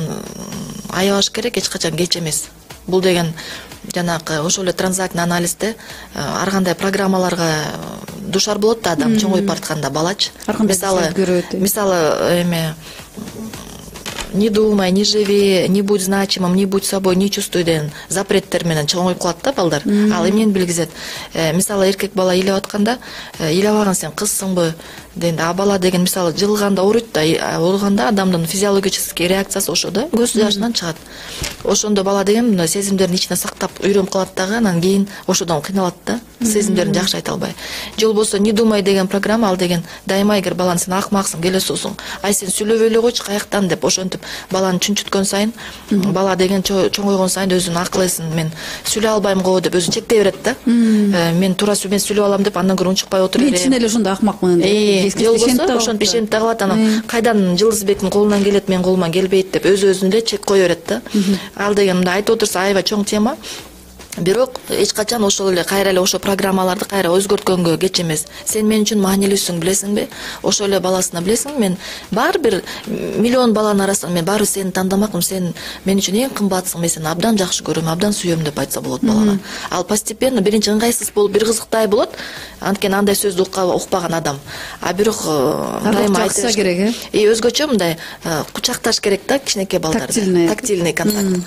аябаш керек, эч качан кеч эмес. Бул деген жанагы ошол эле транзактный анализде ар кандай программаларга душар болот да адам чоңоюп баратканда балачы. Мисалы эме не думай, не живи, не будь значимым, не будь собой, не чувствуй деген запреттер менен чоңоюп калат да балдар. Ал эмнени билгизет? Мисалы эркек бала ыйлап атканда, ыйлабаган сен кызсыңбы дегенде, а бала деген мисалы жылганда ооруйт да, ооруганда адамдын физиологический реакциясы ошо да, көз жашынан чыгат. Ошондо бала деген мына сезимдерин ичине сактап үйрөнүп калат дагы, анан кийин ошодон кыйналат да, сезимдерин жакшы айта албай. Же болбосо не думай деген программа, ал деген дайыма эгер баланы сен акмаксың, келесиосуң, ай сен сүйлөбөй эле койчу каяктан деп ошентип баланы чүнчүткөн сайын, бала деген чоңойгон сайын өзүн акыл эсин мен сүйлөй албайм го деп өзүн чектей берет да. Мен туура сүйлөп алам деп андан көрө унчукпай отура берем. Мен чын эле ошондой акмакмын деп. Же болбосо ошентип ишенип да калат, анан кайдан Жылдызбектин колунан келет, менин колуман келбейт деп өзүн эле чек кое берет да. Ал деген мындай айтып отурса аябай чоң тема. Бирок эч качан ошол эле кайра эле ошо программаларды кайра өзгөрткөнгө кеч эмес. Сен мен үчүн маанилүүсүң, билесиңби? Ошол эле баласына билесиң, мен баары бир миллион баланын арасынан мен баары сени тандамакмын, сен мен үчүн эң кымбатсың, мен сени абдан жакшы көрөм, абдан сүйөм деп айтса болот балага. Ал постепенно биринчи ыңгайсыз болуп, бир кызыктай болот. Анткени андай сөздү укпаган адам. А бирок дайыма айтса керек, өзгөчө мындай кучакташ керек да кичинекей балдарды. Тактильный контакт.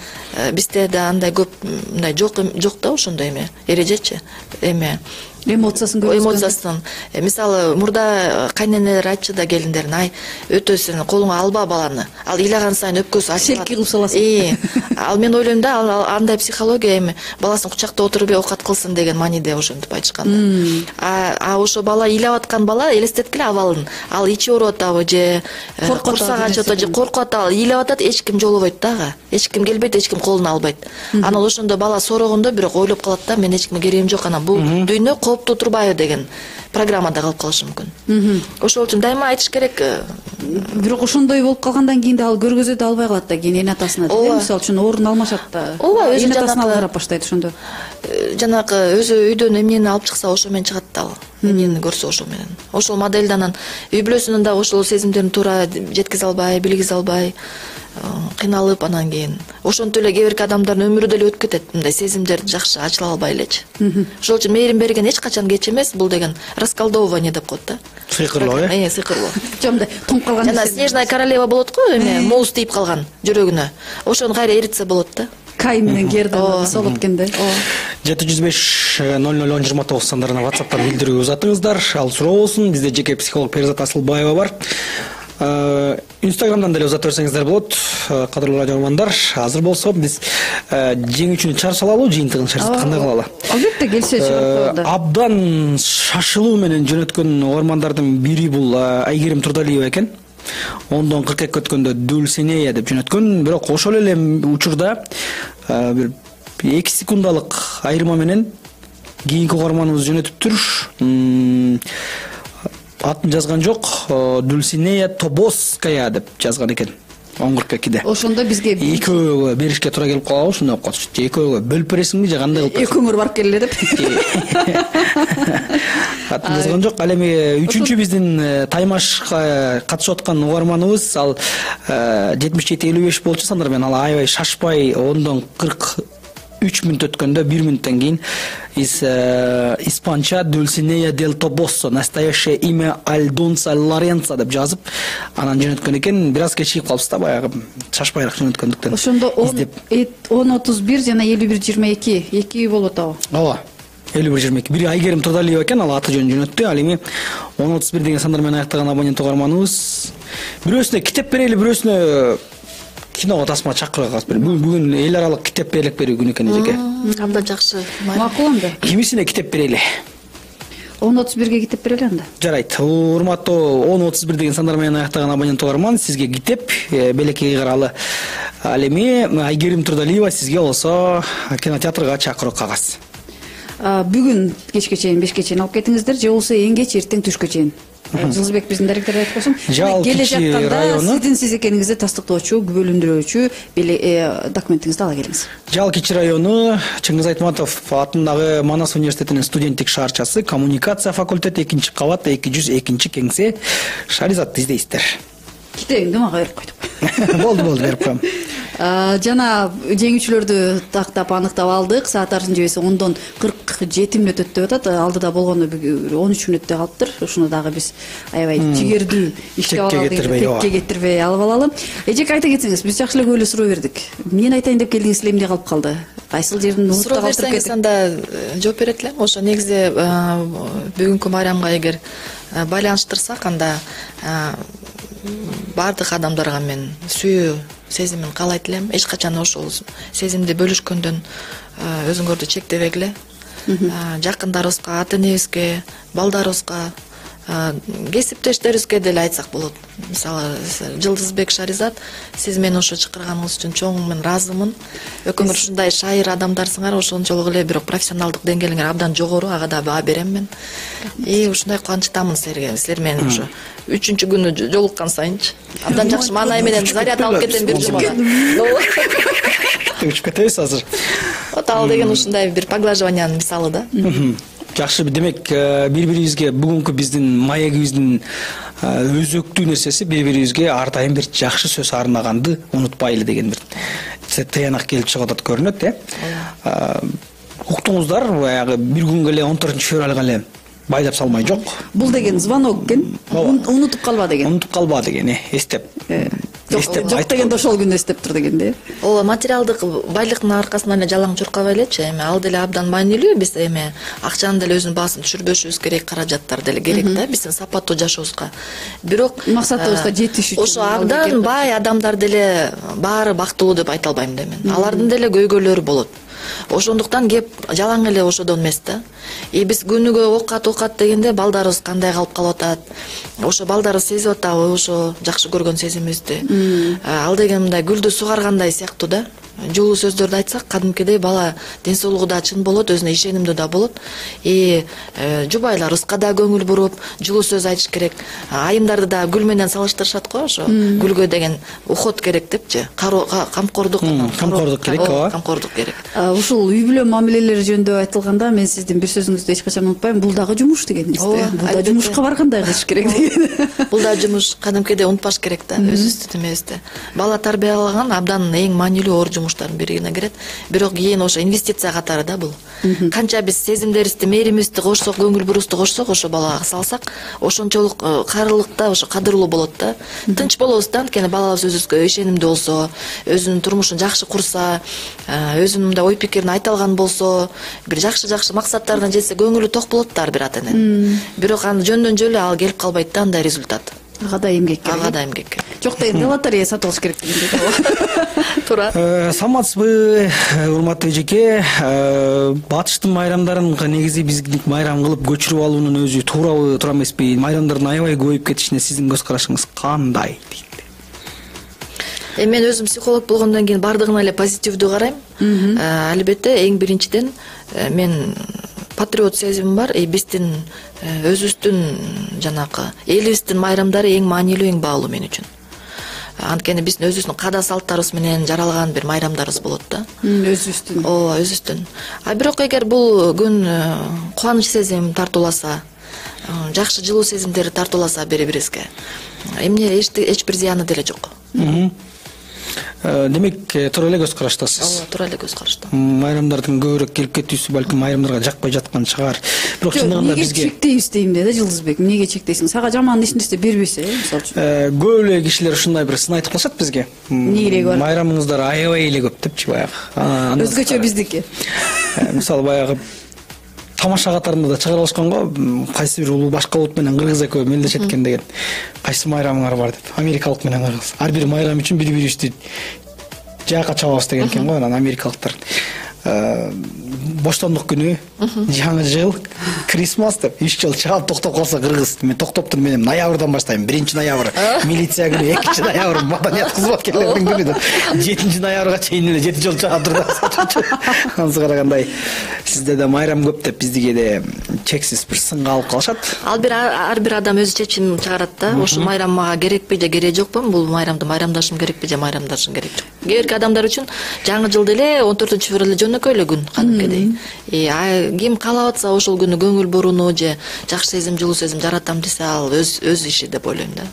Бизде да андай көп мындай жок да ошондой эме, эрежечи эме. Эмоциясын. Мисалы, мурда кайненелер айтчу да келиндерин, ай, өтө сен колуңа алба баланы. Ал ыйлаган сайын өпкөсү ачылат. Селки кылып саласың. Ал мен ойлойм да, андай психология эми баласын кучакта отуруп оокат кылсын деген мааниде ошентип айтышкан. А ошо бала ыйлап аткан бала элестеткиле абалын. Ал ичи ооруп атабы же курсак ачып атабы же коркуп атабы, ыйлап атат, эч ким жолобойт дагы. Эч ким келбейт, эч ким колуна албайт. Анан ошондо бала сорогондо бирок ойлоп калат да, мен эч кимге керегим жок, анан бул дүйнө кооптуу турбайбы деген программада калып калышы мүмкүн. Ошол үчүн дайыма айтыш керек. Бирок ошондой болуп калгандан кийин да ал көргөзө да албай калат да, кийин эне атасына. Мисалы үчүн орун алмашат да. Эне атасына карап баштайт ошондо. Жанагы өзү үйдөн эмнени алып чыкса ошо менен чыгат да ал. Эмнени көрсө ошо менен. Ошол моделде анан үй бүлөсүнөн да ошол сезимдерин туура жеткизе албай, билгизе албай, кыйналып анан кийин ошентип эле кээ бирки адамдардын өмүрү деле өтүп кетет, мындай сезимдер жакшы ачыла албай элечи. Ошол үчүн мээрим берген эч качан кеч эмес, бул деген расколдовывание деп коет да. Сыйкырлоо, сыйкырлоо. Жомдай тоңуп калган. Жана снежная королева болот го, эме муз тийип калган жүрөгүнө. Ошону кайра эритсе болот да. Кайын менен Герда солоп эткенде. 705-00-10-29 сандарына WhatsApp'тан билдирүү узатыңыздар. Ал суроо болсун. Бизде жеке психолог Перизат Асылбаева бар. Инстаграмдан деле узата берсеңиздер болот. Кадырлуу радио угармандар, азыр болсо биз жеңүүчүнү чыгарып салалы, жыйынтыгын чыгарып кандай кылалы? Албетте келсе чыгарып коелу. Абдан шашылуу менен жөнөткөн угармандардын бири бул Айгерим Турдалиева экен. 10-42 өткөндө Дульсинея деп жөнөткөн, бирок ошол эле учурда бир 2 секундалык айырма менен кийинки угарманыбыз жөнөтүптүр. Атын жазган жок, Дульсинея Тобоская деп жазган экен. 10:42-де. Ошондо бизге экөөгө беришке туура келип калабы, ушундай болуп калчу. Экөөгө бөлүп бересиңби же кандай кылып? Экөөңөр барып келеле деп. Атын жазган жок. Ал эми 3-үчү биздин таймашка катышып аткан угарманыбыз ал 77-55 болчу сандар менен, ал аябай шашпай 10-43 мүнөт өткөндө 1 мүнөттөн кийин испанча Дульсинея дел Тобоссо, настоящее имя Альдонса Лоренцо деп жазып, анан жөнөткөн экен. Бир аз кечигип калыпсыз да, баягы шашпайраак жөнөткөндүктөн. Ошондо 10:31 жана 51:22 2 болуп атабы? Ооба. 51:22. Бири Айгерим Турдалиева экен, ал аты жөнүн жөнөттү. Ал эми 10:31 деген сандар менен аяктаган абонент угарманыбыз. Бирөөсүнө китеп берели, бирөөсүнө киного тасма чакырып калып бер. Бүгүн эл аралык китеп берилип берүү күнү экен эжеке. Абдан жакшы. Макул анда. Кимисине китеп берели? 10:31-ге китеп берели анда. Жарайт. Урматтуу 10:31 деген сандар менен аяктаган абонент угарман, сизге китеп белекей каралы. Ал эми Айгерим Турдалиева сизге болсо кинотеатрга чакыруу кагаз. Бүгүн кечке чейин 5ке чейин алып кетиңиздер же болбосо эң кеч эртең түшкө чейин. Жылдызбек биздин директор айтып койсун. Келе жатканда сиздин сиз экениңизди тастыктоочу, күбөлөндүрүүчү документиңизди ала келиңиз. Жал Кичи району Чыңгыз Айтматов атындагы Манас университетинин студенттик шаарчасы, коммуникация факультети 2-кабат 202-кеңсе. Шаризатты издейсиздер. Китебиңди мага берип койдук. Болду, берип коем. Жана жеңүүчүлөрдү тактап аныктап алдык. Саат арсын жебесе 10-дон 47 мүнөт өттү деп атат. Алдыда болгону 13 мүнөттө калыптыр. Ушуну дагы биз аябай жигердүү иштеп алалы, текке кетирбей алып алалы. Эжек айта кетсеңиз, биз жакшы эле көп эле суроо бердик. Эмне айтайын деп келдиңиз эле, эмне калып калды? Кайсыл жердин урутта калтырып кетти? Анда жооп берет элем. Ошо негизи бүгүнкү майрамга эгер байланыштырсак, анда бардык адамдарга мен сүйүү сезимин каалайт элем. Эч качан ошол сезимди бөлүшкөндөн өзүңөрдү чектебегиле. Жакындарыбызга, ата энебизге, балдарыбызга, кесиптештерибизге деле айтсак болот. Мисалы, Жылдызбек Шаризат, сиз мени ошо чакырганыңыз үчүн чоң мен ыраазымын. Өкүмөр ушундай шайыр адамдарсыңар, ошончолук эле бирок профессионалдык деңгээлиңер абдан жогору, ага да баа берем мен. Ушундай кубанычтамын силерге. Силер менен ошо 3-күнү жолуккан сайынчы абдан жакшы маанай менен заряд алып кетем бир жумада. Өчүп кетебиз азыр. Вот ал деген ушундай бир поглаживаниянын мисалы да. Жакшы, демек бири-бирибизге бүгүнкү биздин маегибиздин өзөктүү нерсеси бири-бирибизге ар дайым бир жакшы сөз арнаганды унутпайлы деген бир тыянак келип чыгып атат көрүнөт, Уктуңуздар, баягы бир күнгө эле 14-февралга эле байдап салмай жок. Бул деген звонок экен. Унутуп калба деген. Унутуп калба деген, эстеп. Жок дегенде ошол күндү эстеп тур дегенде. Ооба, материалдык байлыктын аркасынан эле жалаң чуркабай элечи, эми ал деле абдан маанилүү. Биз эми акчанын деле өзүнүн баасын түшүрбөшүбүз керек, каражаттар деле керек да биздин сапаттуу жашообузга. Бирок максатыбызга жетиш үчүн ошо абдан бай адамдар деле баары бактылуу деп айта албайм да мен. Алардын деле көйгөйлөрү болот. Ошондуктан кеп жалаң эле ошодон эмес да. Биз күнүгө окат дегенде балдарыбыз кандай калып калып атат, ошо балдарыбыз сезип атабы ошо жакшы көргөн сезимибизди. Ал деген мындай гүлдү сугаргандай сыяктуу да. Жолуу сөздөрдү айтсак, кадимкидей бала ден соолугу да чын болот, өзүнө ишенимдүү да болот. Жубайларыбызга да көңүл буруп, жылуу сөз айтыш керек. Айымдарды да гүл менен салыштырышат го, ошо гүлгө деген уход керек депчи. Камкордук керек, ооба. Камкордук керек. Ушул үй бүлө мамилелери жөнүндө айтылганда мен сиздин бир сөзүңүздү эч качан унутпайм. Бул дагы жумуш дегениңизди. Бул да жумушка баргандай кылыш керек деген. Бул да жумуш, кадимкидей унутпаш керек да, өзүбүздү эмебизди. Бала тарбиялаган абдан эң маанилүү оор жумуштардын бирине кирет. Бирок кийин ошо инвестиция катары да бул. Канча биз сезимдерибизди, мээримибизди кошсок, көңүл бурубузду кошсок, ошо балага салсак, ошончолук кайрылыкта ошо кадырлуу болот да. Тынч болобуз да, анткени балабыз өзүбүзгө ишенимдүү болсо, өзүнүн турмушун жакшы курса, өзүнүн мындай ой пикирин айта алган болсо, бир жакшы максаттарына жетсе, көңүлү ток болот да ар бир ата эненин. Бирок аны жөндөн жөлү ал келип калбайт да андай результат. Ага да эмгек керек. Жок дегенде лотерея сатып алыш керек дегенде. Туура. Саламатсызбы, урматтуу эжеке? Батыштын майрамдарын негизи биздин майрам кылып көчүрүп алуунун өзү туурабы, туура эмеспи? Майрамдардын аябай көбөйүп кетишине сиздин көз карашыңыз кандай? Мен өзүм психолог болгондон кийин бардыгына эле позитивдүү карайм. Албетте эң биринчиден мен патриот сезимим бар. Биздин өзүбүздүн жанакы элибиздин майрамдары эң маанилүү, эң баалуу мен үчүн. Анткени биздин өзүбүздүн када салттарыбыз менен жаралган бир майрамдарыбыз болот да. Өзүбүздүн. Ооба, өзүбүздүн. Бирок эгер бул күн кубаныч сезим тартууласа, жакшы жылуу сезимдер тартууласа бири-бирибизге, эмне эч бир зыяны деле жок. Демек, туура эле көз караштасыз. Ооба, туура эле көз караштам. Майрамдардын көбүрөөк келип кетүүсү балким майрамдарга жакпай жаткан чыгар. Бирок чындыгында бизге чектейбиз дейм да, Жылдызбек. Эмнеге чектейсиң? Сага жаман эч нерсе бербесе, мисалы үчүн. Көп эле кишилер ушундай бир сын айтып калышат бизге. Эмне кереги бар? Майрамыңыздар аябай эле көп депчи баягы. Өзгөчө биздики. Мисалы баягы тамаша катарында да чыгара алышкан го, кайсы бир улуу башка улут менен кыргыз экөө мелдешет экен деген. Кайсы майрамыңар бар деп. Америкалык менен кыргыз. Ар бир майрам үчүн бири-бирибизди жаакка чабабыз деген экен го, анан америкалыктар. Боштондук күнү, жаңы жыл, Крисмас деп 3 жыл чаап токтоп калса кыргыз. Мен токтоптур, мен ноябрдан баштайм. 1-ноябрь милиция күнү, 2-ноябрь маданият кызматкерлердин күнү деп 7-ноябрга чейин эле 7 жыл чаап турду. Ансы карагандай сизде да майрам көп деп бизди кээде чексиз бир сынга алып калышат. Ар бир адам өзү чечим чыгарат да. Ушул майрам мага керекпи же кереги жокпу? Бул майрамды майрамдашым керекпи же майрамдашым керек жок. Кээ бирки адамдар үчүн жаңы жыл деле 14-февраль эле жөнөкөй эле күн кадимкидей. Ким каалап атса ошол күнү көңүл буруну же жакшы сезим, жылуу сезим жаратам десе ал өз иши деп ойлойм да.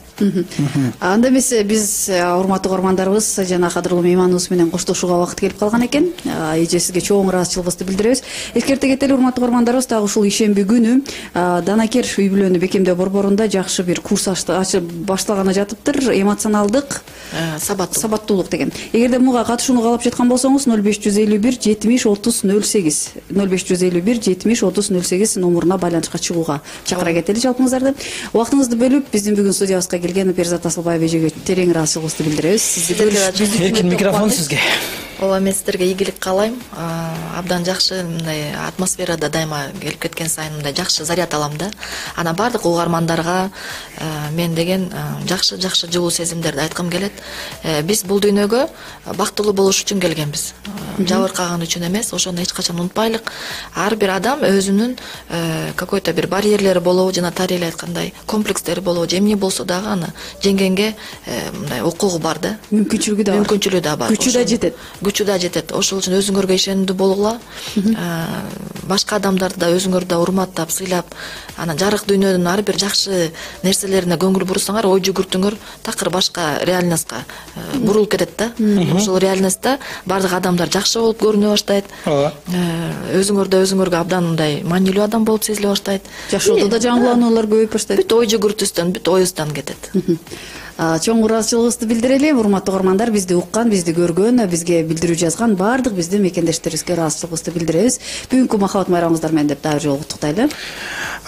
Анда эмесе биз урматтуу угармандарыбыз жана кадырлуу мейманыбыз менен коштошууга убакыт келип калган экен. Эже сизге чоң ыраазычылыгыбызды билдиребиз. Эскерте кетели урматтуу угармандарыбыз, дагы ушул ишемби күнү Данакер үй бүлөнү бекемдөө борборунда жакшы бир курс ачып башталганы жатыптыр. Эмоционалдык сабаттуулук деген. Эгерде муга катышууну каалап жаткан болсоңуз 0551 70 30 08 0551 70 30 08 номуруна байланышка чыгууга чакыра кетели жалпыңыздарды. Убактыңызды бөлүп биздин бүгүн студиябызга келген Перизат Асылбаева эжеге терең ыраазычылыгыбызды билдиребиз. Сизди Эркин микрофон сизге. Ооба, мен сиздерге ийгилик каалайм. Абдан жакшы мындай атмосферада дайыма келип кеткен сайын мындай жакшы заряд алам да. Анан бардык угармандарга мен деген жакшы жылуу сезимдерди айткым келет. Биз бул дүйнөгө бактылуу болуш үчүн келгенбиз. Жабыркаган үчүн эмес. Ошону эч качан унутпайлык. Ар бир адам өзүнүн какой-то бир барьерлери болобу, жана Тария айткандай комплекстери болобу, же эмне болсо дагы аны жеңгенге мындай укугу бар да. Мүмкүнчүлүгү да бар. Күчү да жетет. Ошол үчүн өзүңөргө ишенимдүү болгула. Башка адамдарды да өзүңөр да урматтап, сыйлап, анан жарык дүйнөнүн ар бир жакшы нерселерине көңүл бурсаңар, ой жүгүртүңөр, такыр башка реальностька бурулуп кетет да. Ошол реальностьта бардык адамдар жакшы болуп көрүнө баштайт. Өзүңөргө абдан мындай маанилүү адам болуп сезиле баштайт. Жашоодо да жаңылануулар көбөйүп баштайт. Бүт ой жүгүртүстөн, бүт оюздан кетет. Чоң ыраазычылыгыбызды билдирели. Урматтуу угармандар, бизди уккан, бизди көргөн, бизге билдирүү жазган бардык биздин мекендештерибизге ыраазычылыгыбызды билдиребиз. Бүгүнкү махабат майрамыңыздар менен деп дагы бир жолу куттуктайлы.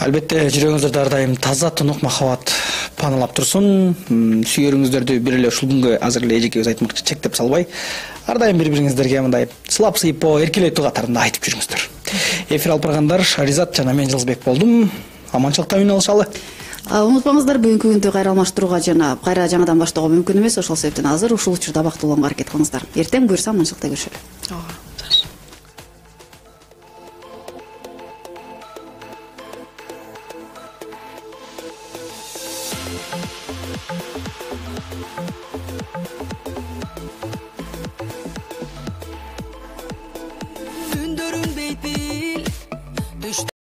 Албетте, жүрөгүңүздөрдө ар дайым таза, тунук махабат паналап турсун. Сүйөрүңүздөрдү бир эле ушул күнгө азыр эле эжекебиз айтмакчы чектеп салбай, ар дайым бири-бириңиздерге мындай сылап сыйпоо, эркелетүү катарында айтып жүрүңүздөр. Эфир алып баргандар Ризат жана мен Жылызбек болдум. Аманчылыкта үн алышалы. Унутпаңыздар, бүгүнкү күндү кайра алмаштырууга жана кайра жаңыдан баштоого мүмкүн эмес. Ошол себептен азыр ушул учурда бактылууланга аракет кылыңыздар. Эртең буюрса аманчылыкта көрүшөлү.